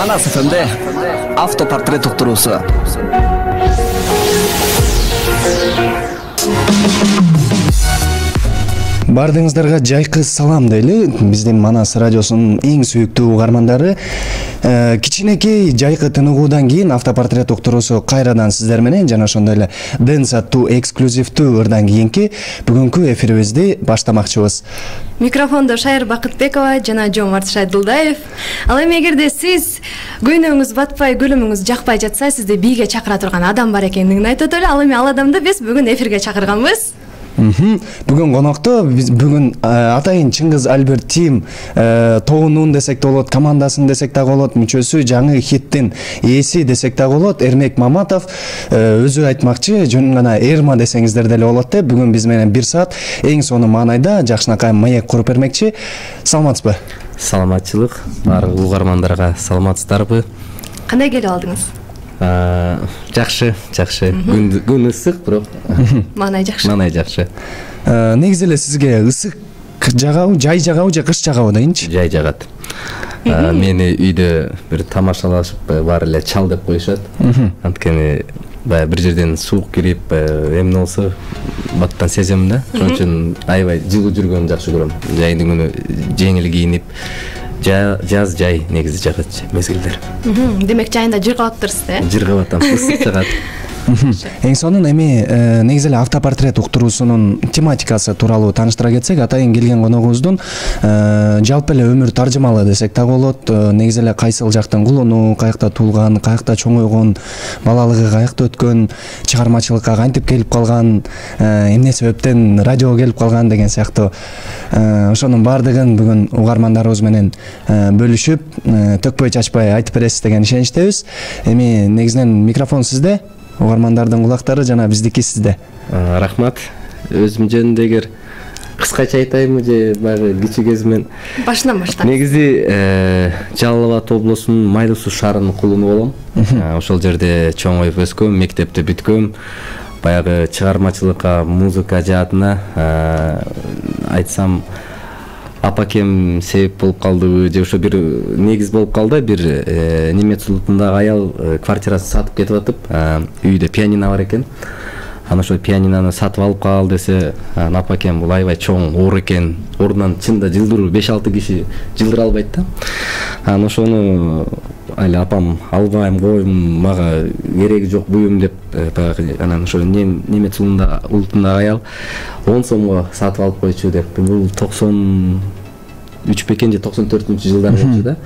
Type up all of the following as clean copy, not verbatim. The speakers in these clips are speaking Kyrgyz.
Манас ФМде автопортрет уктуруусу. Бардыңыздарга жайкы салам дейли. Биздин Манас радиосунун эң сүйүктүү угармандары. Кичинекей жайкы тыныгуудан кийин автопортрет уктуруусу кайрадан сиздер менен жана ошондой эле Дэнс аттуу эксклюзивдүү ырдан кийинки бүгүнкү эфирибизди баштамакчыбыз. Микрофондо Шайыр Бакытбекова жана Жомарт Шайдылдаев. Ал эми эгерде сиз көйнөгүңүз батпай, көлөмүңүз жакпай жатса, сизди бийге чакыра турган адам бар экендигин айтып өтөлү. Ал эми ал адамды биз бүгүн эфирге чакырганбыз. Бүгүн конокто биз бүгүн атайын Чыңгыз Альберт Тим тобунун десек да болот, командасын десек да болот, мүчөсү, жаңы хиттин ээси десек да болот, Эрмек Маматов өзү айтмакчы, жөн гана Эрма десеңиздер деле болот деп, бүгүн биз менен 1 саат эң сонун маанайда жакшынакай маек куруп бермекчи. Саламатсызбы? Саламатчылык, баардык угармандарга саламатсыздарбы? Кандай келип алдыңыз? Жакшы. Күн ысык, бирок Маанай жакшы. Негизи эле сизге ысык жагабы, жай жагабы же кыш жагабы дейинчи? Жай жагат. Мени үйдө бир тамашалашып баары эле чал деп коюшат. Анткени баягы бир жерден суук кирип, эмне болсо баттан сезем да. Ошон үчүн аябай жылуу жүргөнү жакшы көрөм. Жайдын күнү жеңил кийинип, жаз жай негизи жагат мезгилдер. Демек жайында жыргап атырсыз да? Жыргап атам, ысык жагат. Эң сонун эми негизи эле автопортрет уктуруусунун тематикасы тууралуу тааныштыра кетсек, атайын келген коногубуздун жалпы эле өмүр таржымалы десек да болот. Негизи эле кайсыл жактын кулуну, каякта туулган, каякта чоңойгон, балалыгы каякта өткөн, чыгармачылыкка кантип келип калган, эмне себептен радиого келип калган деген сыяктуу ошонун баардыгын бүгүн угармандарыбыз менен бөлүшүп, төкпөй чачпай айтып бересиз деген ишеничтебиз. Эми негизинен микрофон сизде. Угармандардын кулактары жана биздики сизде. Рахмат. Өзүм жөнүндө эгер кыскача айтайынбы же баягы кичи кезимен? Башынан баштап. Негизи Жалал Абад облусунун Майлуу Суу шаарынын кулуну болом. Ошол жерде чоңоюп өскөм, мектепти бүткөм. Баягы чыгармачылыкка, музыка жаатына айтсам апакем себеп болуп калдыбы же ошо бир негиз болуп калды. Бир Немец улутундагы аял квартирасын сатып кетип атып, үйдө пианино бар экен. Ана ошо пианинону сатып алып кал десе, апакем бул аябай чоң оор экен. Ордунан чында жылдыруу 5-6 киши жылдыра албайт да. Ана ошону али апам албайм, койм, мага кереги жок буюм деп баягы анан ошо Немец улутундагы аял 10 сомго сатып алып койчу деп. Бул 93 бекен же 94-жылдар болчу да.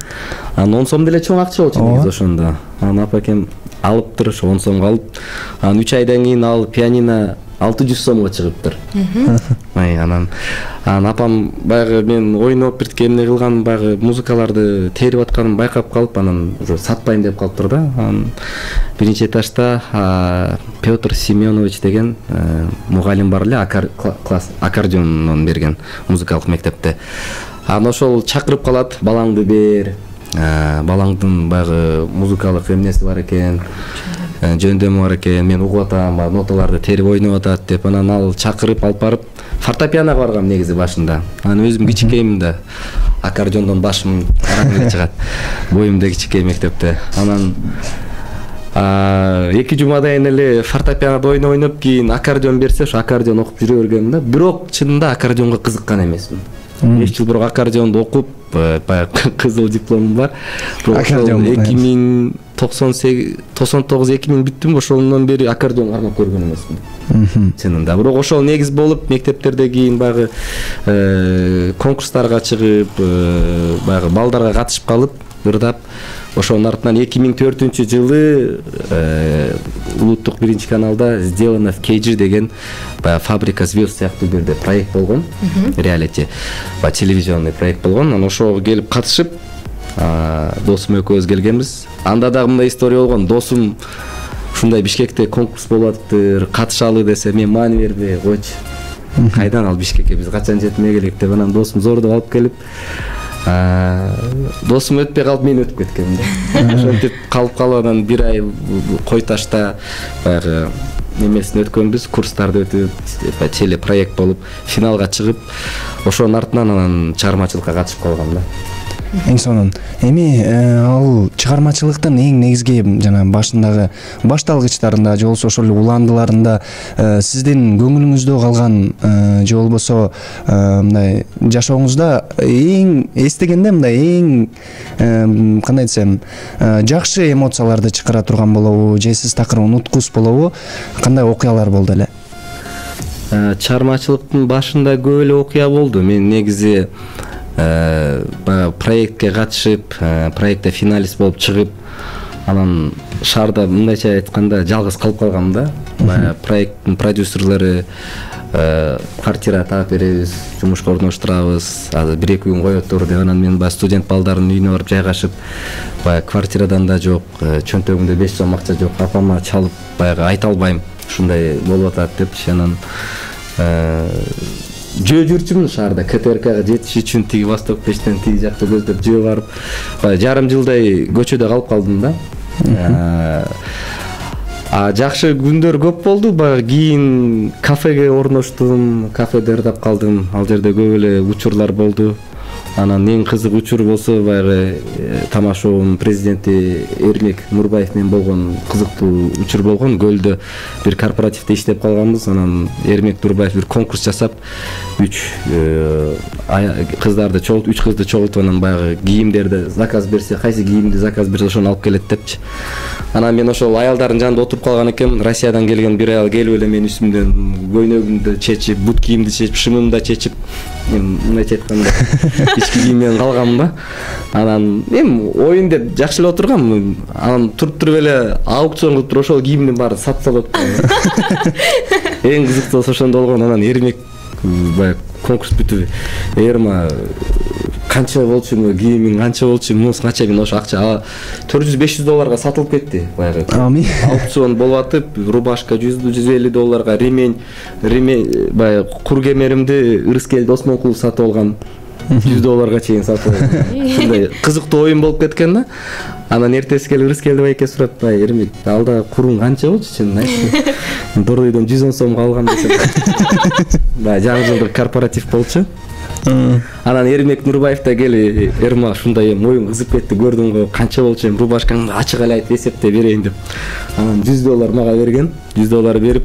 Анан 10 сом деле чоң акча болчу негизи ошондо. Анан апакем алыптыр, ошо 10 сомго алып, анан 3 айдан кийин ал пианино 600 сомго чыгыптыр. Анан апам баягы мен ойноп бир эмне кылган, баягы музыкаларды терип атканын байкап калып, анан уже сатпайм деп калыптыр да. Анан биринчи этажда Петр Семенович деген мугалим бар эле, класс аккордеондон берген музыкалык мектепте. Анан ошол чакырып калат, балаңды бер. Балаңдын баягы музыкалык эмнеси бар экен, жөндөмү бар экен, мен угуп атам, ноталарды терип ойноп атат деп. Анан ал чакырып алып барып фортепианого баргам негизи башында. Анан өзүм кичикеймин да, аккордеондон башым караңгы чыгат. Боюм да кичикей мектепте. Анан 2 жумадан эле фортепианода ойноп, кийин аккордеон берсе, ошо аккордеон окуп жүрө бергем да. Бирок чынында аккордеонго кызыккан эмесмин. 5 жыл бирок аккордеонду окуп, баягы кызыл дипломум бар. Аккордеон 99-2000 бүттүм, ошондон бери аккордеон кармап көргөн эмесмин. Чынында. Бирок ошол негиз болуп, мектептерде кийин баягы конкурстарга чыгып, баягы балдарга катышып калып, ырдап, ошонун артынан 2004-жылы улуттук 1-каналда сделано в Кейджи деген баягы Фабрика звезд сыяктуу бирде проект болгон, реалити, телевизионный проект болгон. Анан ошого келип катышып, досум экөөбүз келгенбиз. Анда дагы мындай история болгон. Досум ушундай Бишкекте конкурс болуп атыптыр, катышалы десе, мен маани бербей койчу. Кайдан ал Бишкекке, биз качан жетмей келек деп. Анан досум зордуп алып келип, досум өтпөй калып, мен өтүп кеткем да. Ошентип калып анан 1 ай Кой Ташта баягы немесин өткөнбүз, курстарды өтүп, телепроект болуп, финалга чыгып, ошонун артынан анан чыгармачылыкка катышып калгам да. Эң сонун. Эми ал чыгармачылыктын эң негизги жана башындагы башталгычтарында же болбосо ошол уландыларында сиздин көңүлүңүздө калган же болбосо мындай жашооңузда эң эстегенде мындай эң кандай десем жакшы эмоцияларды чыгара турган болобу же сиз такыр унуткус болобу, кандай окуялар болду эле? Чыгармачылыктын башында көп эле окуя болду. Мен негизи проектке катышып, проектте финалист болуп чыгып, анан шаарда мындайча айтканда жалгыз калып калгам да. Проекттин продюсерлери квартира таап беребиз, жумушка орноштурабыз, азыр 1-2 күн коет тур деп, анан мен студент балдардын үйүнө барып жайгашып, квартирадан да жок, чөнтөгүмдө 5 сом акча жок, апама чалып баягы айта албайм, ушундай болуп атат депчи. Анан жөө жүрчүмүн шаарда КТРКга жетиш үчүн тиги Восток пештен тиги жакта көздөп жөө барып, жарым жылдай көчөдө калып калдым да. Жакшы күндөр көп болду. Кийин кафеге орноштум, кафе даярдап калдым. Ал жерде көп эле учурлар болду. Анан эң кызык учур болсо баягы Тамашовдун президенти Эрмек Нурбаев менен болгон кызыктуу учур болгон. Көлдө бир корпоративде иштеп калганбыз. Анан Эрмек Нурбаев бир конкурс жасап, 3 кыздарды чогултуп, 3 кызды чогултуп, анан баягы кийимдерди заказ берсе, кайсы кийимди заказ берсе ошону алып келет депчи. Анан мен ошол аялдардын жанында отуруп калган экенмин. Россиядан келген бир аял келип эле менин үстүмдөн көйнөгүмдү чечип, бут кийимди чечип, шымымды да чечип, мен мындайча айтканда ички кийим менен калгам да. Анан мен оюн деп жакшы эле отургам. Анан туруп эле аукцион кылып туруп ошол кийимдин баарын сатып салып атты. Эң кызыктуусу ошондо болгон. Анан Эрмек баягы конкурс бүтүп, Эрма канча болчу, кийимиң канча болчу, мунусу канча, мен ошо акча $400-500 сатылып кетти. Баягы аукцион болуп атып, рубашка $100-150, ремень баягы кур кемеримди Ырыскел Досмонкулов сатып алган. $100 чейин сатып алган. Ушундай кызыктуу оюн болуп кеткен да. Анан эртеси келип Ырыскелди байке сурап, Эрмек, алда куруң канча болчу чынын айтчы? Дордойдон 110 сомго алгам десем. Жаңы жылдык корпоратив болчу. Анан Эрмек Нурбаев да кели, Эрма ушундай оюң кызып кетти, көрдүң го, канча болчу, рубашкаңды ачык эле айтып эсептеп берейин деп. Анан $100 мага берген, $100 берип,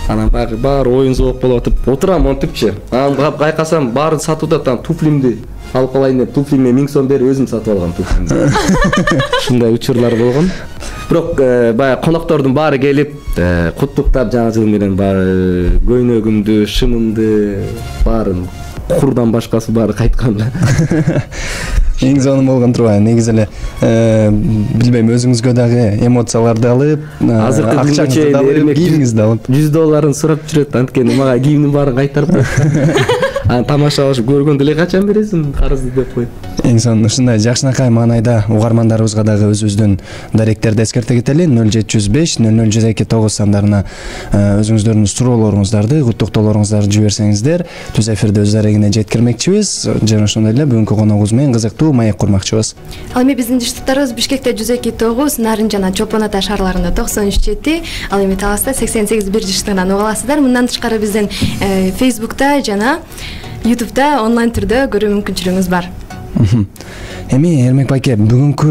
анан баары оюн зоок болуп атып, отурам монтипчи. Анан кайкасам баарын сатып атат, туфлимди алып калайын деп, туфлиме 1000 сом берип өзүм сатып алгам туфлимди. Ушундай учурлар болгон. Бирок баягы коноктордун баары келип, куттуктап жаңы жыл менен баары көйнөгүмдү, шымымды баарын курдан башкасы баары кайткан. Эң сонун болгон турбайбы? Негизи эле билбейм, өзүңүзгө дагы эмоцияларды алып, акчаңызды да алып, кийимиңизди алып, $100 сурап жүрөт. Анткени мага кийимдин баарын кайтарып койду. Анан тамашалашып көргөндө эле качан бересиң карызды деп коюп. Эң сонун. Ушундай жакшынакай маанайда угармандарыбызга дагы өзүбүздүн даректерди эскерте кетели. 0705 0019 сандарына өзүңүздөрдүн суроолоруңуздарды, куттуктоолоруңуздарды жиберсеңиздер, түз эфирде өз дарегине жеткирмекчибиз. Жана ошондой эле бүгүнкү коногубуз менен кызыктуу маек курмакчыбыз. Ал эми биздин диштуктарыбыз Бишкекте 102.9, Нарын жана Чолпон Ата шаарларында 93.7, ал эми Таласта 88.1 жыштыгынан уга аласыздар. Мындан тышкары биздин Facebook'та жана YouTube'да онлайн түрдө көрүү мүмкүнчүлүгүңүз бар. Эми Эрмек байке, бүгүнкү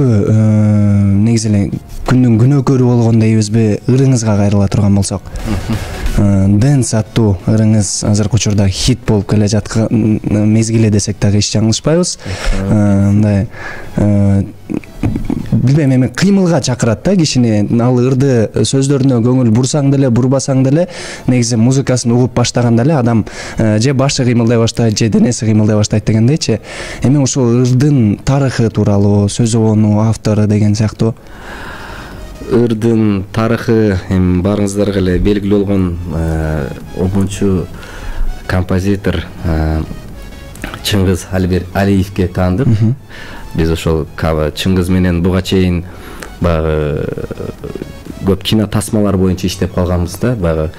негизи эле күндүн күнөөкөрү болгон дейбизби, ырыңызга кайрыла турган болсок. Дэнс аттуу ырыңыз азыркы учурда хит болуп келе жаткан мезгили десек дагы эч жаңылышпайбыз. Мындай билбейм, эми кыймылга чакырат да кишини. Ал ырды сөздөрүнө көңүл бурсаң деле, бурбасаң деле, негизи музыкасын угуп баштаганда эле адам же башы кыймылдай баштайт, же денеси кыймылдай баштайт дегендейчи. Эми ушул ырдын тарыхы тууралуу, сөзөбөнү, автору деген сыяктуу. Ырдын тарыхы эми баарыңыздарга эле белгилүү болгон обончу композитор Чыңгыз Алиевке таандык. Биз ошол Чыңгыз менен буга чейин баягы көп кино тасмалар боюнча иштеп калганбыз да. Баягы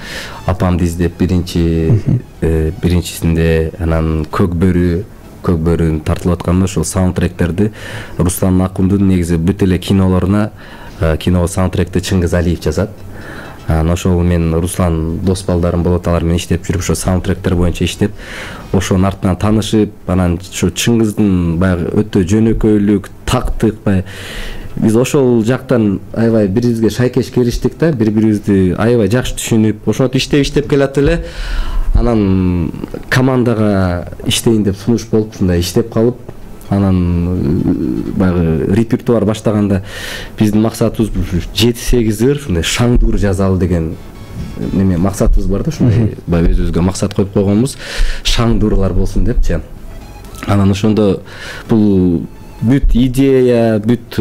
Апамды издеп биринчисинде, анан Көкбөрүн тартылып атканда ошол саундтректерди Руслан Акундун негизи бүт эле кинолоруна кино саундтректи Чыңгыз Алиев жазат. Анан ошол мен Руслан дос балдарым болот, алар менен иштеп жүрүп ошо саундтректер боюнча иштеп, ошонун артынан таанышып, анан ошо Чыңгыздын баягы өтө жөнөкөйлүк, тактык баягы биз ошол жактан аябай бири-бирибизге шайкеш келиштик да, бири-бирибизди аябай жакшы түшүнүп, ошентип иштеп келатып эле анан командага иштейин деп сунуш болуп, ушундай иштеп калып, анан баягы репертуар баштаганда биздин максатыбыз 7-8 ыр ушундай шаңдуур жазалы деген неме максатыбыз бар да, ушундай баягы өзүбүзгө максат коюп койгонбуз, шаңдуурлар болсун депчи. Анан ошондо бул бүт идея, бүт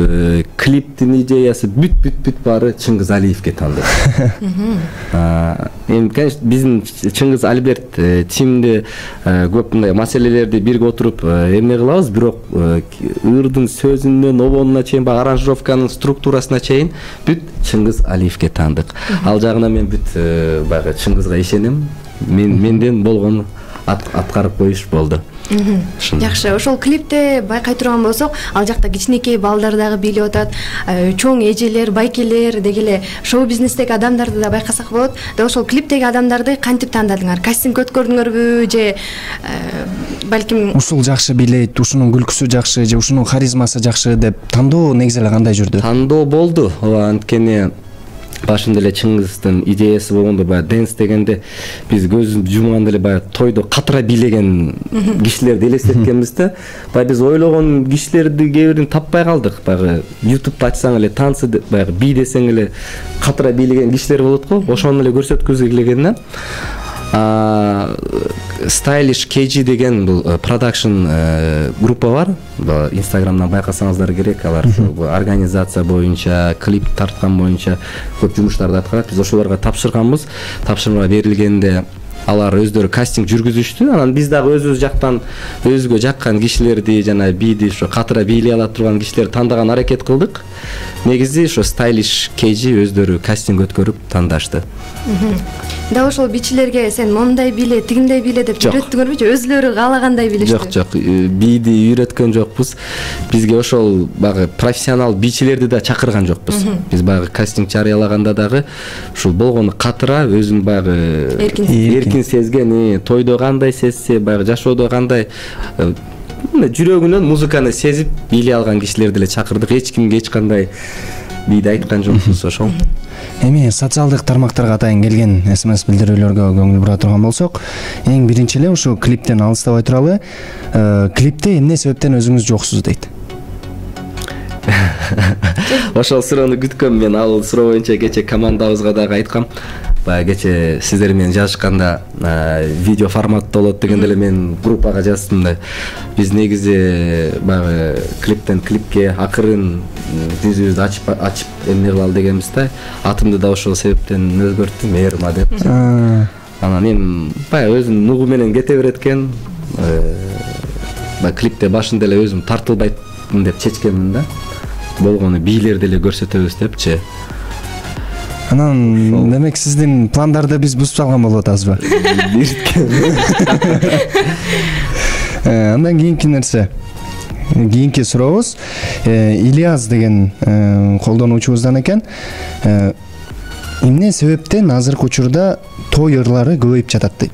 клиптин идеясы, бүт баары Чыңгыз Алиевке таандык. Эми конечно биздин Чыңгыз Альберт тимде көп мындай маселелерди бирге отуруп эмне кылабыз, бирок ырдын сөзүнөн обонуна чейин, баягы аранжировканын структурасына чейин бүт Чыңгыз Алиевке таандык. Ал жагынан мен бүт баягы Чыңгызга ишенем. Менден болгону аткарып коюш болду. Жакшы, ошол клипте байкай турган болсок, ал жакта кичинекей балдар дагы бийлеп атат, чоң эжелер, байкелер деги эле шоу бизнестеги адамдарды да байкасак болот. Да ошол клиптеги адамдарды кантип тандадыңар? Кастинг өткөрдүңөрбү же балким ушул жакшы бийлейт, ушунун күлкүсү жакшы же ушунун харизмасы жакшы деп тандоо негизи эле кандай жүрдү? Тандоо болду. Анткени башында эле Чыңгыздын идеясы болгондо баягы дэнс дегенде биз көзүбүздү жумганда эле баягы тойдо катыра бийлеген кишилерди элестеткенбиз да. Баягы биз ойлогон кишилерди кээ бирин таппай калдык. Баягы YouTube'да ачсаң эле танцы баягы би десең эле катыра бийлеген кишилер болот го. Ошону эле көрсөткүзгү келген да. Stylish KG деген бул продакшн группа бар. Инстаграмдан байкасаңыздар керек. Алар организация боюнча, клип тарткан боюнча көп жумуштарды аткарат. Биз ошолорго тапшырганбыз. Тапшырма берилгенде алар өздөрү кастинг жүргүзүштү. Анан биз дагы өзүбүз жактан өзгө жаккан кишилерди, жана биди ошо катыра бийлей ала турган кишилерди тандаган аракет кылдык. Негизи ошо Stylish KG өздөрү кастинг өткөрүп тандашты. Да ошол бичилерге сен мондай бийле, тигиндей бийле деп үйрөттүңөрбү же өзүлөрү каалагандай бийлештиби? Жок, биди үйрөткөн жокпуз. Бизге ошол баягы профессионал бичилерди да чакырган жокпуз. Биз баягы кастинг жарыялаганда дагы ушул болгону катыра өзүн баягы эркин сезген, тойдо кандай сезсе, баягы жашоодо кандай жүрөгүнөн музыканы сезип бийлей алган кишилерди эле чакырдык. Эч кимге эч кандай бийди айткан жокпуз ошол. Эми социалдык тармактарга атайын келген СМС билдирүүлөргө көңүл бура турган болсок, эң биринчи эле ушу клиптен алыстабай туралы, клипте эмне себептен өзүңүз жоксуз дейт? Ошол суроону күткөм мен. Ал суроо боюнча кече командабызга дагы айткам. Баягы кече сиздер менен жазышканда видео форматта болот дегенде эле мен группага жаздым да. Биз негизи баягы клиптен клипке акырын жүзүбүздү ачып эмне кылалы дегенбиз да. Атымды да ошол себептен өзгөрттүм, Эрма деп. Анан эми баягы өзүнүн нугу менен кете берет экен. Баягы клипте башында эле өзүм тартылбайтмын деп чечкенмин да. Болгону бийлерди эле көрсөтөбүз депчи. Анан демек сиздин пландарды биз бузуп салган болуп атабызбы? Андан кийинки нерсе, кийинки сурообуз Ильяс деген колдонуучубуздан экен. Эмне себептен азыркы учурда той ырлары көбөйүп жатат дейт?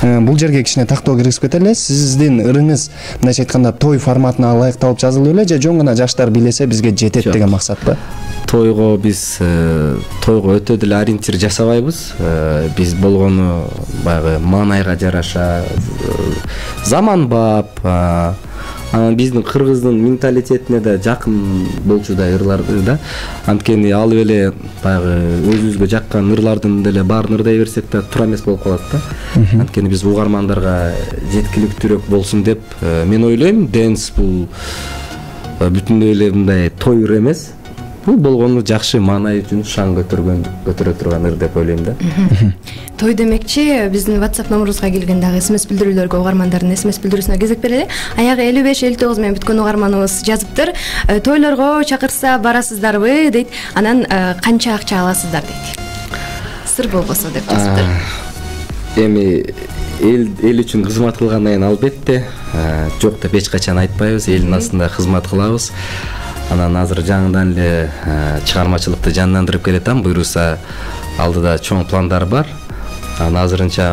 Бул жерге кичине тактоо киргизип кетели. Сиздин ырыңыз мындайча айтканда той форматына ылайыкталып жазылып эле же жөн гана жаштар билесе бизге жетет деген максатпы? Тойго биз тойго өтө деле ориентир жасабайбыз. Биз болгону баягы маанайга жараша заманбап, анан биздин кыргыздын менталитетине да жакын болчудай ырларды да. Анткени алып эле баягы өзүбүзгө жаккан ырлардын деле баарын ырдай берсек да туура эмес болуп калат да. Анткени биз угармандарга жеткиликтүүрөөк болсун деп мен ойлойм. Дэнс бул бүтүндөй эле мындай той ыр эмес. Бул болгону жакшы маанай үчүн шаң көтөрө турган ыр деп ойлойм да. Той демекчи биздин WhatsApp номерубузга келген дагы SMS билдирүүлөргө угармандардын SMS билдирүүсүнө кезек берели. Аягы 55-59 менен бүткөн угарманыбыз жазыптыр. Тойлорго чакырса барасыздарбы дейт. Анан канча акча аласыздар дейт. Сыр болбосо деп жазыптыр. Эми эл үчүн кызмат кылгандан кийин албетте жок деп эч качан айтпайбыз. Элдин астында кызмат кылабыз. Анан азыр жаңыдан эле чыгармачылыкты жандандырып келатам. Буюрса алдыда чоң пландар бар. Анан азырынча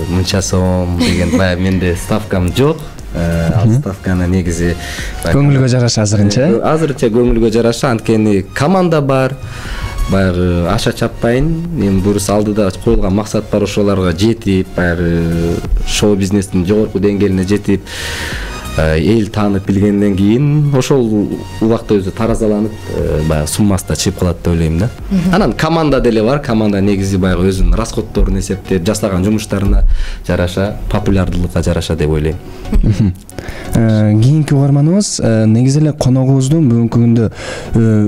мынча сом деген баягы менде ставкам жок. Ал ставканы негизи көңүлгө жараша азырынча. Азырынча көңүлгө жараша, анткени команда бар. Баягы аша чаппайын. Эми буюрса алдыда коюлган максат бар, ошолорго жетип, баягы шоу бизнестин жогорку деңгээлине жетип, эл таанып билгенден кийин ошол убакта өзү таразаланып, баягы суммасы да чыгып калат деп ойлойм да. Анан команда деле бар. Команда негизи баягы өзүнүн расходдорун эсептеп, жасаган жумуштарына жараша, популярдуулукка жараша деп ойлойм. Кийинки угарманыбыз негизи эле коногубуздун бүгүнкү күндө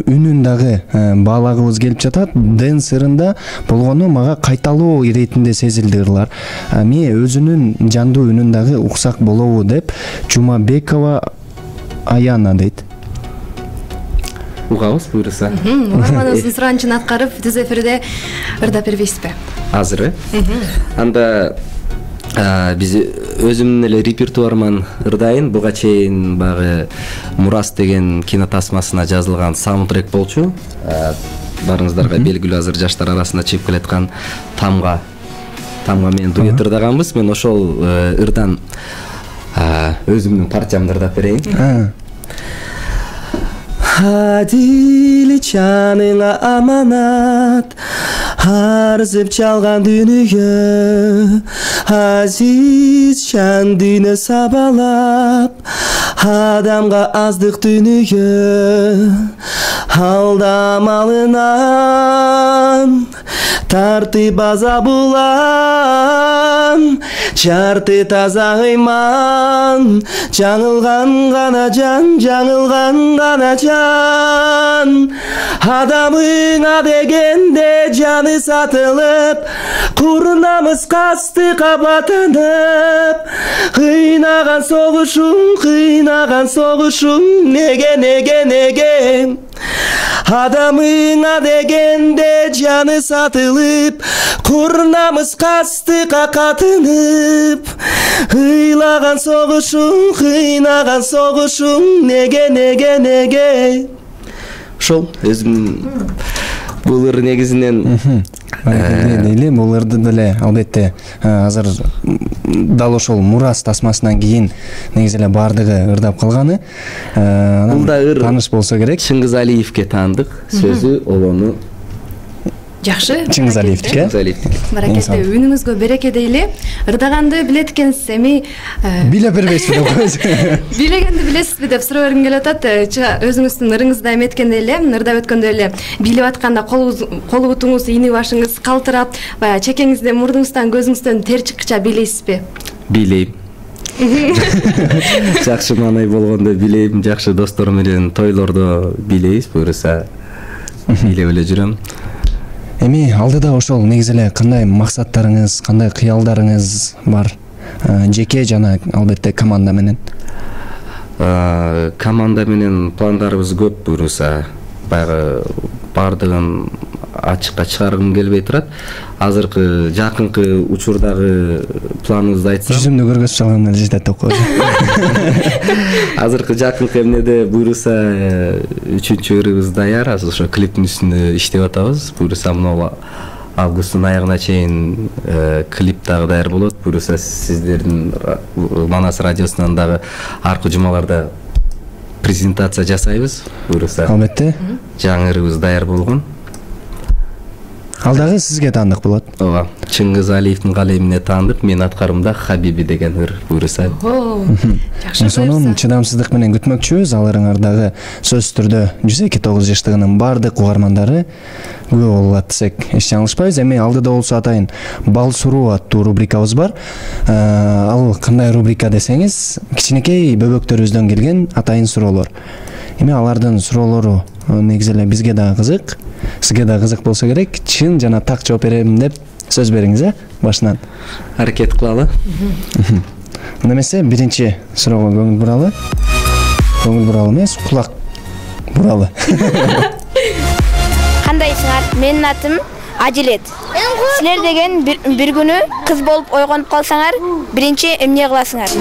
үнүн дагы баалагыбыз келип жатат. Дэнс ырында болгону мага кайталоо иретинде сезилди ырлар. Мен өзүнүн жандуу үнүн дагы уксак болобу деп Жумабекова Аяна дейт. Угабыз буюрса. Угарманыбыздын суранычын аткарып, түз эфирде ырдап бербейсизби? Азыр анда биз өзүмдүн эле репертуарыман ырдайын. Буга чейин баягы Мурас деген кинотасмасына жазылган саундтрек болчу. Барыңыздарга белгилүү, азыр жаштар арасында чыгып келаткан Тамга менен дуэт ырдаганбыз. Мен ошол ырдан өзүмдүн парчамды ырдап берейин. Адил жаныңа аманат, арзып чалган дүнүйө, азиз жан дүйнө сабалап, адамга аздык дүнүйө, алдамалынан тартып азабулан, жарты таза ыйман, жаңылган гана жан, жаңылган гана жан. Адамыңа дегенде жаны сатылып, курнамыз кастыкка батынып, кыйнаган согушуң, неге? Адамыңа дегенде жаны сатылып, курнамыз кастыкка катынып, ыйлаган согушуң, кыйнаган согушуң, неге? Ошол өзүмдүн бул ыр негизинен дейли, бул ырды деле албетте азыр дал ошол Мурас тасмасынан кийин негизи эле баардыгы ырдап калганы. Бул да ыр тааныш болсо керек. Чыңгыз Алиевке таандык, сөзү олону Жакшы. Чыңгыз Алиевтике. Баракетте, үнүңүзгө береке дейли. Ырдаганды билет экенсиз, эми биле бербейсизби деп койсуз. Билегенди билесизби деп суроо бергим келип атат. Өзүңүздүн ырыңызда эметкенде эле, ырдап өткөндө эле билип атканда кол бутуңуз, ийни башыңыз калтырап, баягы чекеңизден, мурдуңуздан, көзүңүздөн тер чыккыча билейсизби? Билейм. Жакшы маанай болгондо билейм, жакшы достор менен тойлордо билейбиз, буюрса билеп эле жүрөм. Эми алдыда ошол негизи эле кандай максаттарыңыз, кандай кыялдарыңыз бар? Жеке жана албетте команда менен. Команда менен пландарыбыз көп, буюрса баягы баардыгын ачыкка чыгаргым келбей турат. Азыркы жакынкы учурдагы планыбызды айтсам, жүзүмдү көргөзүп чалган эле жетет деп коёбуз. Азыркы жакынкы эмнеде буюрса 3-чү ырыбыз даяр, азыр ошо клиптин үстүндө иштеп атабыз. Буюрса мына августтун аягына чейин клип дагы даяр болот. Буюрса сиздердин Манас радиосунан дагы аркы жумаларда презентация жасайбыз. Буюрса албетте жаңы ырыбыз даяр болгон. Ал дагы сизге таандык болот. Ооба. Чыңгыз Алиевдин калемине таандык, мен аткарымда Хабиби деген ыр буюрса. Жакшы. Сонун чыдамсыздык менен күтмөкчүбүз. Ал ырыңардагы сөзсүз түрдө 102.9 жаштыгынын баардык угармандары күбө болот десек эч жаңылышпайбыз. Эми алдыда болсо атайын Бал суроо аттуу рубрикабыз бар. Ал кандай рубрика десеңиз, кичинекей бөбөктөрүбүздөн келген атайын суроолор. Эми алардын суроолору негизи эле бизге дагы кызык, сизге дагы кызык болсо керек. Чын жана так жооп берем деп сөз бериңиз, башынан. Аракет кылалы. Анда эмесе биринчи суроого көңүл буралы. Көңүл буралы эмес, кулак буралы. Кандайсыңар? Менин атым Адилет. Силер деген бир күнү кыз болуп ойгонуп калсаңар, биринчи эмне кыласыңар?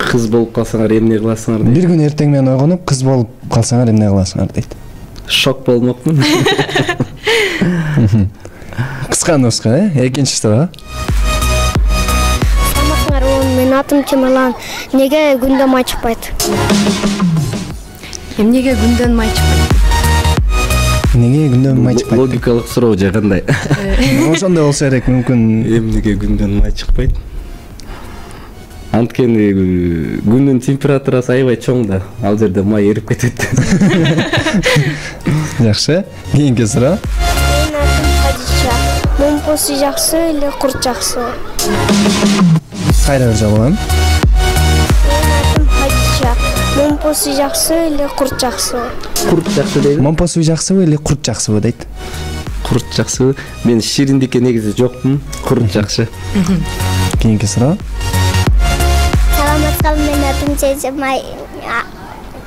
кыз болуп калсаңар эмне кыласыңар дейт. Бир күн эртең менен ойгонуп кыз болуп калсаңар эмне кыласыңар дейт. Шок болмокмун. Кысканыбызга, экинчи суроо. Саламатсыңар, менин атым Темирлан. Неге күндө май чыкпайт? Эмнеге күндөн май чыкпайт? Неге күндөн май чыкпайт? Логикалык суроо же кандай? Ошондой болсо керек, мүмкүн. Эмнеге күндөн май чыкпайт? Анткени күндүн температурасы аябай чоң да, ал жерде май эрип кетет. Жакшы. Кийинки суроо. Менин атым Хадиша. Момпосу жакшы эле курт жакшы? Кайра бир жолу. Менин атым Хадиша. Момпосу жакшы эле курт жакшы? Курт жакшы дейби? Момпосу жакшыбы эле курт жакшыбы дейт. Курт жакшыбы? Мен шириндикке негизи жокмун. Курт жакшы. Кийинки суроо. Саламатсызбы, менин атым Сезимай.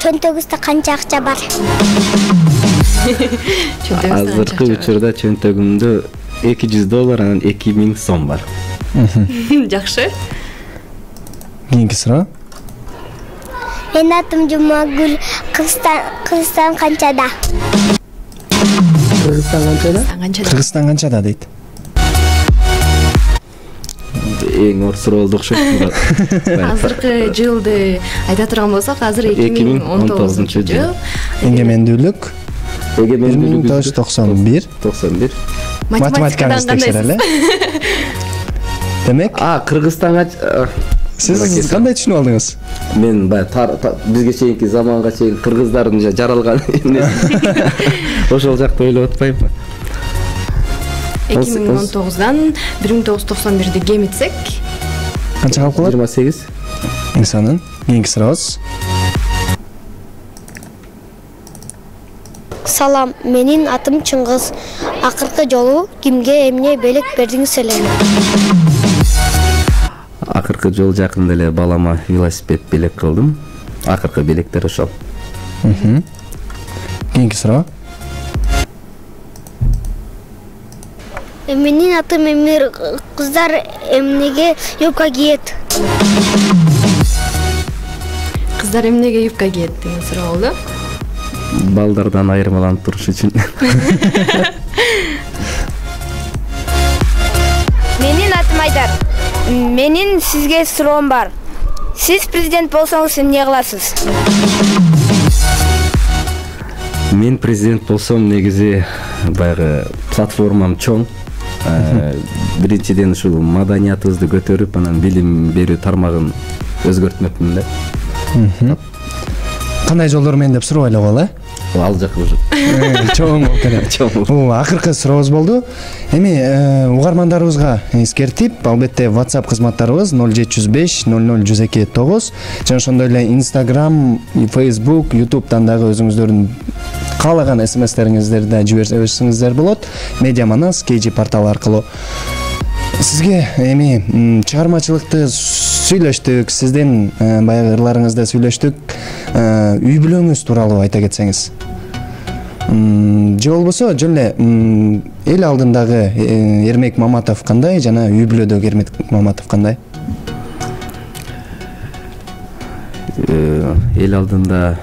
Чөнтөгүңүздө канча акча бар? Азыркы учурда чөнтөгүмдө $200, анан $2000 бар. Жакшы. Кийинки суроо. Менин атым Жумагүл. Кыргызстан канчада? Кыргызстан канчада? Кыргызстан канчада дейт. Эң оор суроо болду окшойт. Азыркы жылды айта турган болсок, азыр 2019-жыл. Эгемендүүлүк 1991. 91. Математикаңызды текшерели. Демек, Кыргызстанга сиз кандай түшүнүп алдыңыз? Мен бизге чейинки заманга чейин кыргыздардын жаралган ошол жакты ойлоп атпаймынбы? 2019-дан 1991-ди кемитсек, Канча калып калат? 28. Инсанын. Кийинки сурообуз. Салам, менин атым Чыңгыз. Акыркы жолу кимге эмне белек бердиңиз эле? Акыркы жол жакында эле балама велосипед белек кылдым. Акыркы белектер ошол. Кийинки суроо. Менин атым Эмир. Кыздар эмнеге юбка кийет? кыздар эмнеге юбка кийет деген суроо болду. Балдардан айырмаланып туруш үчүн. Менин атым Айдар. Менин сизге суроом бар. Сиз президент болсоңуз эмне кыласыз? Мен президент болсом негизи баягы платформам чоң. Биринчиден ушул маданиятыбызды көтөрүп, анан билим берүү тармагын өзгөртмөкмүн да. Кандай жолдор менен деп суроо ойлогол, Ал жак уже чоң болуп келет. Бул акыркы сурообуз болду. Эми угармандарыбызга эскертип, албетте WhatsApp кызматтарыбыз 0705 00102 9 жана ошондой эле Instagram, Facebook, YouTube'дан дагы өзүңүздөрдүн каалаган SMS-териңиздерди жиберсеңиздер болот. Медиа Манас KG порталы аркылуу. Сизге эми чыгармачылыкты сүйлөштүк, сиздин баягы ырларыңызды сүйлөштүк. Үй бүлөңүз тууралуу айта кетсеңиз. Же болбосо жөн эле эл алдындагы Эрмек Маматов кандай жана үй бүлөдөгү Эрмек Маматов кандай? Эл алдында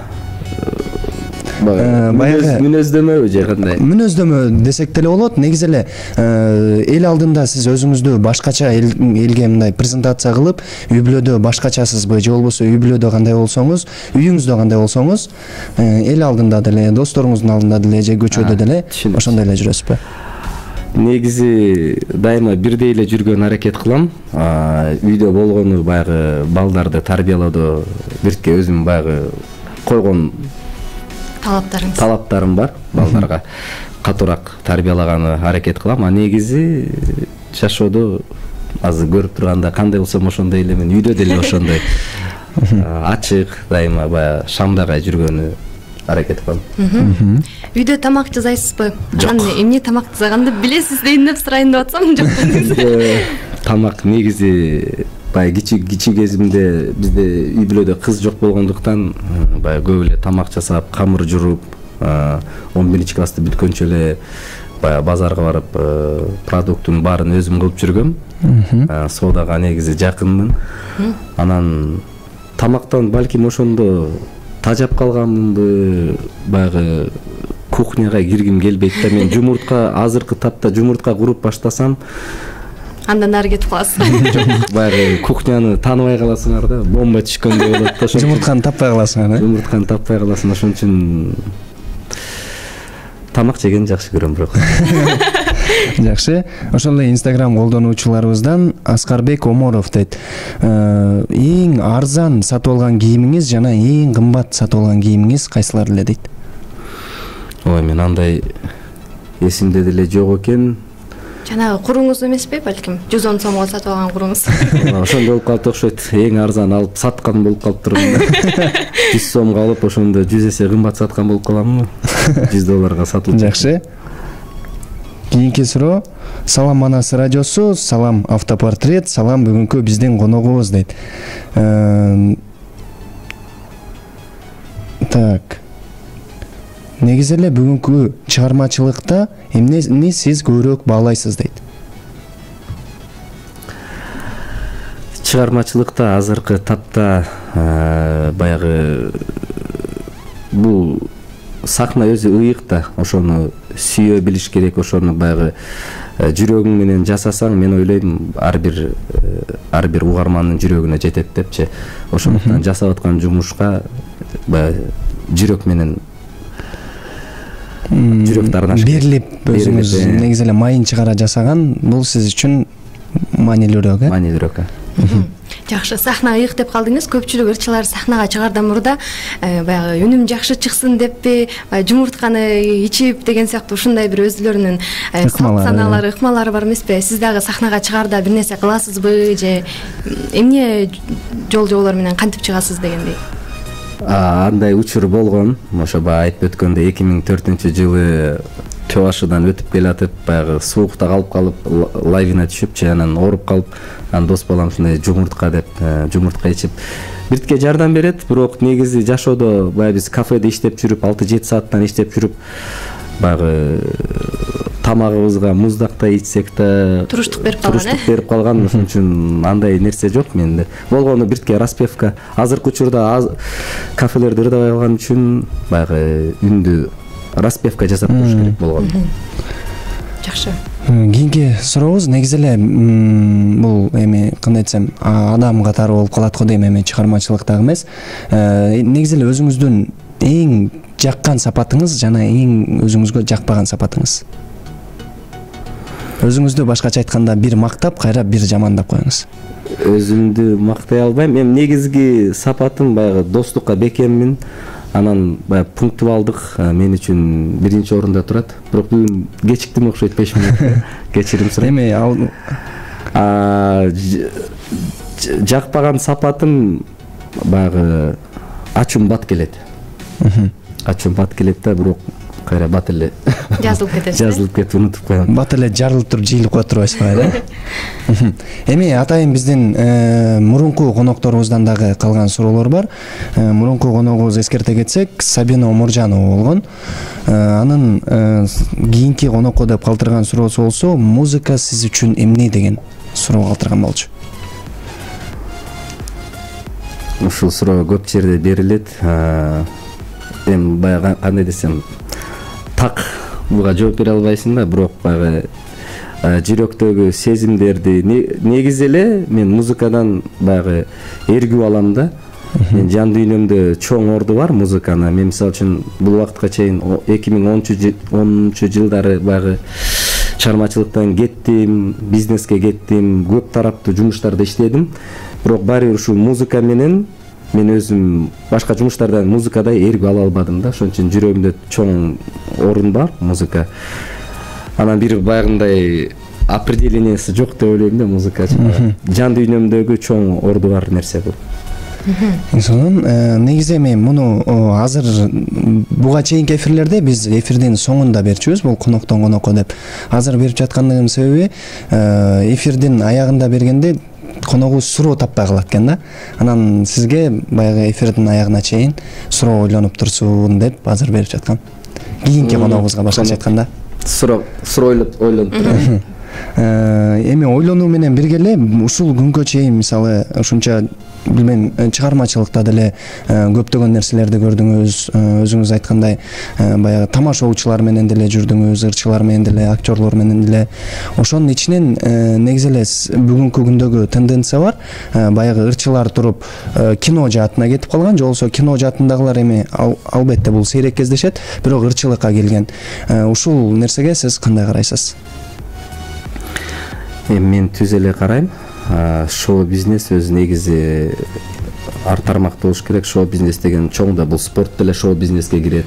баягы мүнөздөмөбү же кандай? Мүнөздөмө десек деле болот. Негизи эле эл алдында сиз өзүңүздү башкача элге мындай презентация кылып, үй бүлөдө башкачасызбы же болбосо үй бүлөдө кандай болсоңуз, үйүңүздө кандай болсоңуз, эл алдында деле, досторуңуздун алдында деле же көчөдө деле ошондой эле жүрөсүзбү? Негизи дайыма бирдей эле жүргөн аракет кылам. Үйдө болгону баягы балдарды тарбиялоодо бирке өзүм баягы койгон талаптарым бар. Балдарга катуураак тарбиялаганы аракет кылам. Негизи жашоодо азыр көрүп турганда кандай болсом ошондой эле мен үйдө деле ошондой ачык, дайыма баягы шамдагай жүргөнү аракет кылам. Үйдө тамак жасайсызбы? Анан эмне тамак жасаганды билесиз дейин деп сурайын деп атсам, жок. Тамак негизи баягы кичи кезимде бизде үй бүлөдө кыз жок болгондуктан баягы көп эле тамак жасап, камыр жууруп, 11 класты бүткөнчө эле баягы базарга барып, продукттун баарын өзүм кылып жүргөм. Соодага негизи жакынмын. Анан тамактан балким ошондо тажап калганмынбы, баягы кухняга киргим келбейт да. Мен жумуртка азыркы тапта жумуртка куруп баштасам, андан ары кетип каласың. Баягы кухняны тааныбай каласыңар да, бомба түшкөндөй болот да. Жумуртканы таппай каласың, да? Жумуртканы таппай каласың. Ошон үчүн тамак жеген жакшы көрөм бирок. Жакшы. Ошол эле Instagram колдонуучуларыбыздан Аскарбек Оморов дейт. Эң арзан сатып алган кийимиңиз жана эң кымбат сатып алган кийимиңиз кайсылар эле дейт? Ой, мен андай эсимде деле жок экен. Жанагы куруңуз эмеспи, балким 110 сомго сатып алган куруңуз. Ошондой болуп калып окшойт. Эң арзан алып саткан болуп калыптырмын. 100 сомго алып ошондо 100 эсе кымбат саткан болуп каламмы? $100 сатылып. Жакшы. Кийинки суроо. Салам Манас радиосу, салам автопортрет, салам бүгүнкү биздин коногубуз дейт. Так. Негизи эле бүгүнкү чыгармачылыкта эмнени сиз көбүрөөк баалайсыз дейт? Чыгармачылыкта азыркы тапта баягы бул сахна өзү ыйык да, ошону сүйө билиш керек, ошону баягы жүрөгүң менен жасасаң, мен ойлойм ар бир угармандын жүрөгүнө жетет депчи. Ошондуктан жасап аткан жумушка баягы жүрөк менен жүрөк дарынаш берилип, өзүңүз негизи эле майын чыгара жасаган, бул сиз үчүн маанилүүрөөк, э? Маанилүүрөөк. Жакшы, сахна ыйык деп калдыңыз. Көпчүлүк ырчылар сахнага чыгардан мурда баягы үнүм жакшы чыксын деппи, жумуртканы ичип деген сыяктуу ушундай бир өзүлөрүнүн санаалары, ыкмалары бар эмеспи? Сиз дагы сахнага чыгарда бир нерсе кыласызбы же эмне жол-жолор менен кантип чыгасыз дегендей? Андай учур болгон. Ошо баягы айтып өткөндөй 2004-жылы Төбашыдан өтүп келатып, баягы суукта калып лавина түшүп, анан ооруп калып, анан дос балам ушундай жумуртка деп, жумуртка ичип биртке жардам берет. Бирок негизи жашоодо баягы биз кафеде иштеп жүрүп, 6-7 сааттан иштеп жүрүп, баягы тамагыбызга муздактай ичсек да туруштук берип калган. Ошон үчүн андай нерсе жок менде. Болгону биртке распевка. Азыркы учурда кафелерди ырдабай калган үчүн баягы үндү распевка жасап туруш керек болгон. Жакшы. Кийинки сурообуз негизи эле бул эми кандай десем, адам катары болуп калат го дейм, эми чыгармачылыктагы эмес. Негизи эле өзүңүздүн эң жаккан сапатыңыз жана эң өзүңүзгө жакпаган сапатыңыз. Өзүңүздү башкача айтканда бир мактап, кайра бир жамандап коюңуз. Өзүмдү мактай албайм. Мен негизги сапатым баягы достукка бекеммин. Анан баягы пунктуалдык мен үчүн биринчи орунда турат. Бирок бүгүн кечиктим окшойт, 5 мүнөт. Кечирим сурайм. Эми жакпаган сапатым баягы ачуум бат келет. Ачуум бат келет да, бирок кайра бат эле жазылып кетет. Жазылып кетип унутуп коем. Бат эле жарылып туруп жыйылып коюп турбайсызбы, да? Эми атайын биздин мурунку конокторубуздан дагы калган суроолор бар. Мурунку коногубуз эскерте кетсек, Сабина Оморжанова болгон. Анын кийинки конокко деп калтырган суроосу болсо, музыка сиз үчүн эмне деген суроо калтырган болчу. Ушул суроо көп жерде берилет. Эми баягы кандай десем, так буга жооп бере албайсың да, бирок баягы жүрөктөгү сезимдерди негизи эле мен музыкадан баягы эргүү алам да. Мен жан дүйнөмдө чоң орду бар музыканы. Мен мисалы үчүн бул убакытка чейин 2010 жылдары баягы чыгармачылыктан кеттим, бизнеске кеттим, көп тараптуу жумуштарда иштедим. Бирок баары бир ушул музыка менен мен өзүм башка жумуштардан музыкадай эргүү ала албадым да. Ошон үчүн жүрөгүмдө чоң орун бар музыка. Анан бир баягындай определениясы жок деп ойлойм да музыка. Жан дүйнөмдөгү чоң орду бар нерсе бул. Сонун негизи эми муну азыр буга чейинки эфирлерде биз эфирдин соңунда берчүбүз, бул коноктон конокко деп. Азыр берип жаткандыгым себеби эфирдин аягында бергенде коногубуз суроо таппай калат экен да. Анан сизге баягы эфирдин аягына чейин суроо ойлонуп турсун деп азыр берип жаткан. Кийинки коногубузга башкача айтканда суроо ойлонуп турат. Эми ойлонуу менен бирге эле ушул күнгө чейин мисалы ушунча билбейм чыгармачылыкта деле көптөгөн нерселерди көрдүңүз, өзүңүз айткандай баягы тамашоочулар менен деле жүрдүңүз, ырчылар менен деле, актерлор менен деле. Ошонун ичинен негизи эле бүгүнкү күндөгү тенденция бар, баягы ырчылар туруп кино жаатына кетип калган, же болбосо кино жаатындагылар эми албетте бул сейрек кездешет, бирок ырчылыкка келген. Ушул нерсеге сиз кандай карайсыз? Мен түз эле карайм. Шоу бизнес өзү негизи ар тармакта болуш керек. Шоу бизнес деген чоң да, бул спорт деле шоу бизнеске кирет.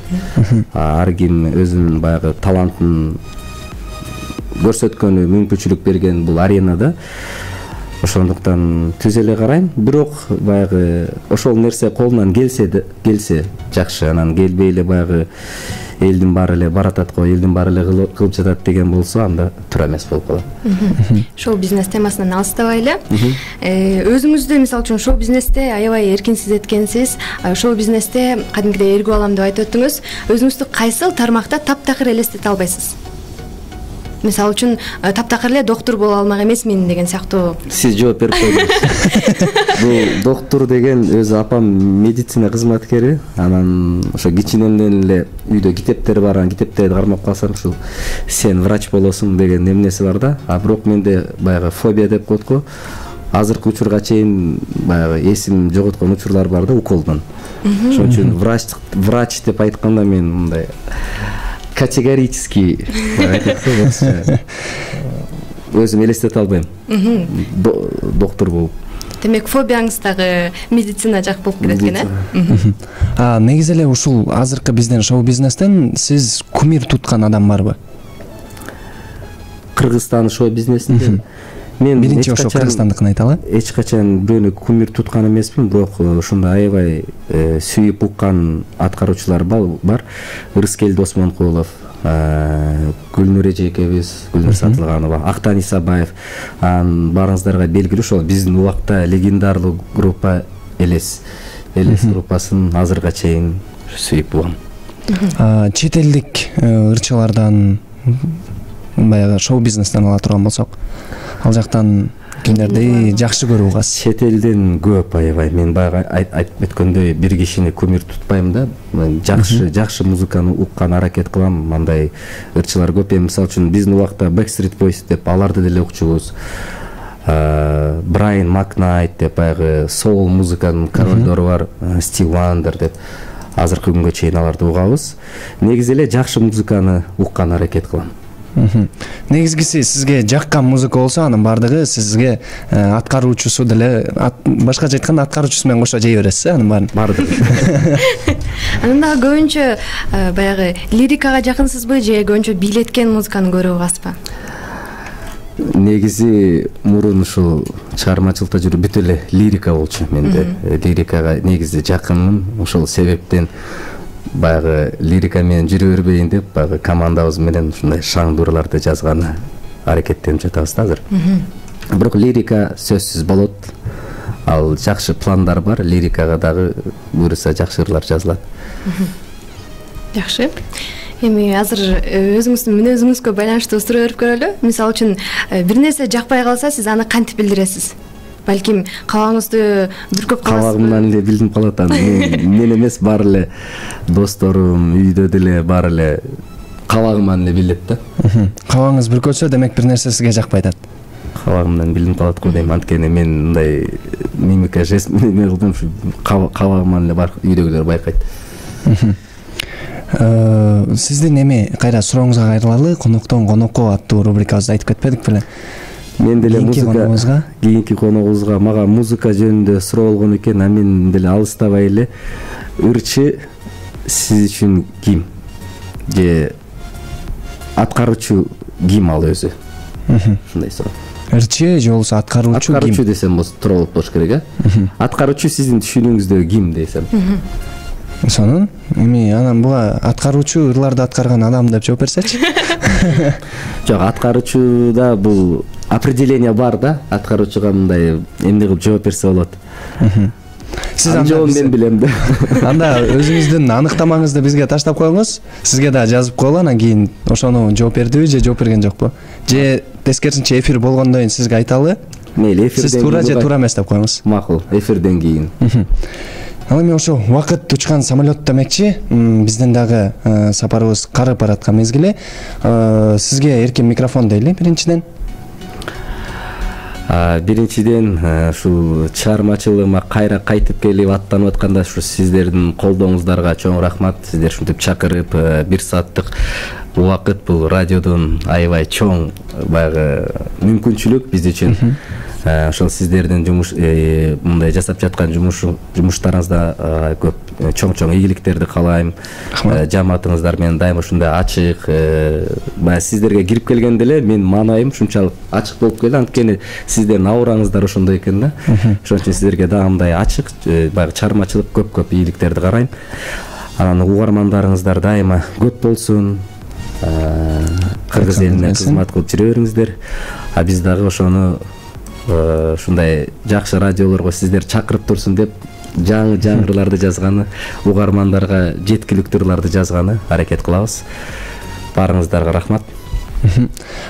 Ар ким өзүнүн баягы талантын көрсөткөнү, мүмкүнчүлүк берген бул аренада. Ошондуктан түз эле карайм. Бирок баягы ошол нерсе колунан келсе жакшы, анан келбей эле баягы элдин баары эле баратат го, элдин баары эле кылып жатат деген болсо, анда туура эмес болуп калат. Шоу бизнес темасынан алыстабайлы. Өзүңүздү мисалы үчүн шоу бизнесте аябай эркин сезеткенсиз. Шоу бизнесте кадимкидей эргүү алам деп айтып өттүңүз. Өзүңүздү кайсыл тармакта таптакыр элестете албайсыз? Мисалы үчүн таптакыр эле доктор боло алмак эмесмин деген сыяктуу. Сиз жооп берип койдуңуз. Бул доктор деген өзү апам медицина кызматкери, анан ошо кичинемден эле үйдө китептер бар, анан китептерди кармап калсам ушул сен врач болосуң деген эмнеси бар да. Бирок менде баягы фобия деп коет го. Азыркы учурга чейин баягы эсим жоготкон учурлар бар да, уколдон. Ошон үчүн врач деп айтканда мен мындай категорически өзүм элестете албайм доктор болуп. Демек фобияңыз дагы медицина жак болуп келет экен, э? Негизи эле ушул азыркы биздин шоу бизнестен сиз кумир туткан адам барбы? Кыргызстан шоу бизнесинде мен биринчи ошо Кыргызстандыкын айталы. Эч качан бирөөнү кумир туткан эмесмин, бирок ушундай аябай сүйүп уккан аткаруучулар бар. Ырыскел Досмонкулов, Гүлнур эжекебиз, Гүлнур Сатылганова, Актан Исабаев, баарыңыздарга белгилүү ошол биздин убакта легендарлуу группа Элес группасын азырга чейин сүйүп угам. Чет элдик ырчылардан баягы шоу бизнестен ала турган болсок, ал жактан кимдерди жакшы көрүп угасыз? Чет элден көп аябай. Мен баягы айтып өткөндөй бир кишини кумир тутпайм да. Жакшы музыканы уккан аракет кылам. Мындай ырчылар көп. Мисалы үчүн биздин убакта Backstreet Boys деп аларды деле укчубуз. Брайан Макнайт деп баягы соул музыканын королдору бар, Стив Вандер деп азыркы күнгө чейин аларды угабыз. Негизи эле жакшы музыканы уккан аракет кылам. Негизгиси сизге жаккан музыка болсо, анын баардыгы сизге аткаруучусу деле, башкача айтканда аткаруучусу менен кошо жей бересиз, анын баарын. Баардыгы. Анан дагы көбүнчө баягы лирикага жакынсызбы же көбүнчө бийлеткен музыканы көрүп угасызбы? Негизи мурун ушул чыгармачылыкта жүрүп бүт эле лирика болчу менде. Лирикага негизи жакынмын. Ошол себептен баягы лирика менен жүрө бербейин деп баягы командабыз менен ушундай шаңдуурларды жазганы аракеттенип жатабыз да азыр. Бирок лирика сөзсүз болот. Ал жакшы пландар бар, лирикага дагы буюрса жакшы ырлар жазылат. Жакшы. Эми азыр өзүңүздүн мүнөзүңүзгө байланыштуу суроо берип көрөлү. Мисалы үчүн бир нерсе жакпай калса, сиз аны кантип билдиресиз? Балким кабагыңызды бүркөп каласызбы? Кабагымдан эле билдип калат. Мен эмес, баары эле досторум, үйдө деле баары эле кабагымдан эле билет да. Кабагыңыз бүркөтсө, демек бир нерсе сизге жакпай атат. Кабагымдан билинип калат го дейм. Анткени мен мындай мимика жест менен кылдым, ушу кабагымдан эле бар, үйдөгүлөр байкайт. Сиздин эми кайра сурооңузга кайрылалы, коноктон конокко аттуу рубрикабызды айтып кетпедик беле? Мен деле музыка, кийинки коногубузга мага музыка жөнүндө суроо болгон экен, а мен деле алыстабай эле ырчы сиз үчүн ким? Же аткаруучу ким ал өзү? Ушундай суроо. Ырчы же болбосо аткаруучу ким? Аткаруучу десем туура болуш керек, Аткаруучу сиздин түшүнүңүздө ким десем? Сонун, эми анан буга аткаруучу ырларды аткарган адам деп жооп берсечи? Жок, аткаруучуда бул определение бар да, аткаруучуга мындай эмне кылып жооп берсе болот. Сиз жообун мен билем да. Анда өзүңүздүн аныктамаңызды бизге таштап коюңуз. Сизге да жазып коелу, анан кийин ошону жооп бердиби же жооп берген жокпу? Же тескерисинче эфир болгондон кийин сизге айталы. Мейли, эфирден Сиз туура же туура эмес деп коюңуз. Макул, эфирден кийин. Ал эми ошо убакыт учкан самолет демекчи, биздин дагы сапарыбыз карып бараткан мезгили. Сизге эркин микрофон дейли биринчиден. Биринчиден ушул чыгармачылыгыма кайра кайтып келип аттанып атканда ушу сиздердин колдооңуздарга чоң рахмат. Сиздер ушинтип чакырып 1 сааттык убакыт бул радиодон аябай чоң баягы мүмкүнчүлүк биз үчүн. Ошол сиздердин мындай жасап жаткан жумуштарыңызда көп чоң ийгиликтерди каалайм. Жамаатыңыздар менен дайыма ушундай ачык, баягы сиздерге кирип келгенде эле мен маанайым ушунчалык ачык болуп келди, анткени сиздердин аураңыздар ошондой экен да. Ошон үчүн сиздерге дагы мындай ачык, баягы чыгармачылык көп ийгиликтерди карайм. Анан угармандарыңыздар дайыма көп болсун. Кыргыз элине кызмат кылып жүрө бериңиздер. Биз дагы ошону ушундай жакшы радиолорго сиздер чакырып турсун деп жаңы жаңырыларды жазганы, угармандарга жеткиликтүү ырларды жазганы аракет кылабыз. Баарыңыздарга рахмат.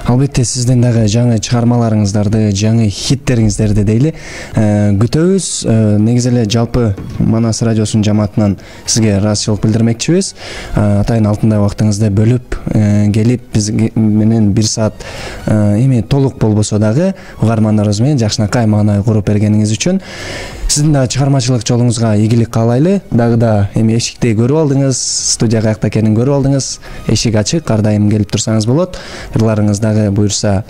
Албетте сиздин дагы жаңы чыгармаларыңыздарды, жаңы хиттериңиздерди дейли күтөбүз. Негизи эле жалпы Манас радиосунун жамаатынан сизге ыраазычылык билдирмекчибиз. Атайын алтындай убактыңызды бөлүп келип биз менен 1 саат эми толук болбосо дагы угармандарыбыз менен жакшынакай маанай куруп бергениңиз үчүн сиздин да чыгармачылык жолуңузга ийгилик каалайлы. Дагы да эми эшикти көрүп алдыңыз, студия каякта экенин көрүп алдыңыз. Эшик ачык, ар дайым келип турсаңыз болот. Ырларыңыз дагы буюрса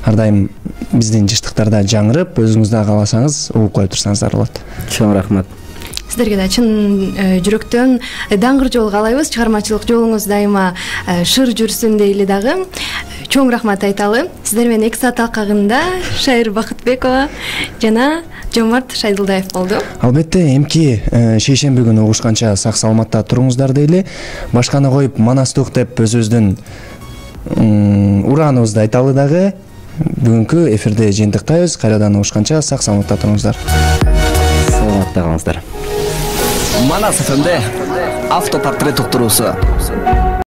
ар дайым биздин жыштыктарда жаңырып, өзүңүз да кааласаңыз угуп коюп турсаңыздар болот. Чоң рахмат. Сиздерге да чын жүрөктөн даңгыр жол каалайбыз. Чыгармачылык жолуңуз дайыма шыр жүрсүн дейли дагы. Чоң рахмат айталы. Сиздер менен 2 саат алкагында Шайыр Бакытбекова жана Жомарт Шайдылдаев болду. Албетте, эмки шейшемби күнү угушканча сак саламатта туруңуздар дейли. Башканы коюп Манастук деп өзүбүздүн урааныбызды айталы дагы. Бүгүнкү эфирде жыйынтыктайбыз. Кайрадан угушканча сак саламатта туруңуздар. Саламатта калыңыздар. Манас ФМде автопортрет уктуруусу.